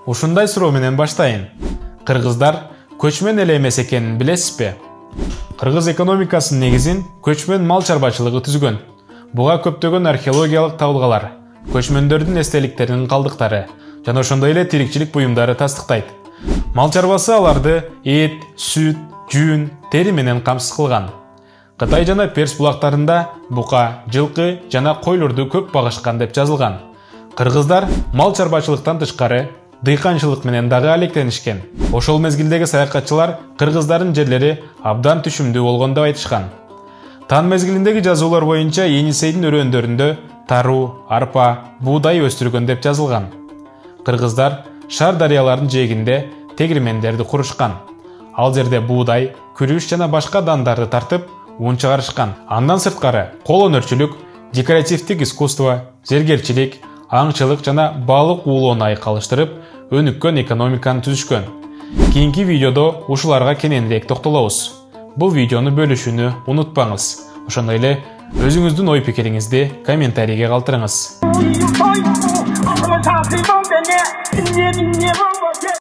Ушундай суроо менен баштайын. Кыргыздар көчмөн эле эмес экенин билесизби? Кыргыз экономикасынын негизин көчмөн мал чарбачылыгы түзгөн. Буга көптөгөн археологиялык табылгалар, көчмөндөрдүн эстеликтеринин калдыктары жана ошондой эле тирикчилик буюмдары тастыктайт. Мал чарбасы аларды эт, сүт, жүн, тери менен камсыз кылган. Кытай жана Перс булактарында бука, жылкы жана койлорду көп багышкан деп жазылган. Кыргыздар мал чарбачылыктан тышкары дыйканчылык менен дагы алектенишкен. Ошол мезгилдеги саякатчылар кыргыздардын жерлери абдан түшүмдүү болгон деп айтышкан. Тан мезгилиндеги жазуулар боюнча Енисейдин өрөөндөрүндө таруу, арпа, буудай өстүргөн деп жазылган. Кыргыздар Шар дарыяларынын жээгинде тегирмендерди курушкан. Ал жерде буудай, күрүш жана башка дандарды тартып, ун чыгарышкан. Андан сырткары кол өнөрчүлүк, декоративдик искусство, зергерчилик, аңчылык жана балык уулоону айкалыштырып, өнүккөн экономиканы түзүшкөн. Кийинки видеодо ушуларга кененирээк токтолобуз. Бул видеону бөлүшүүнү унутпаңыз. Ошондой эле өзүңүздүн ой пикириңизди комментарийге калтырыңыз.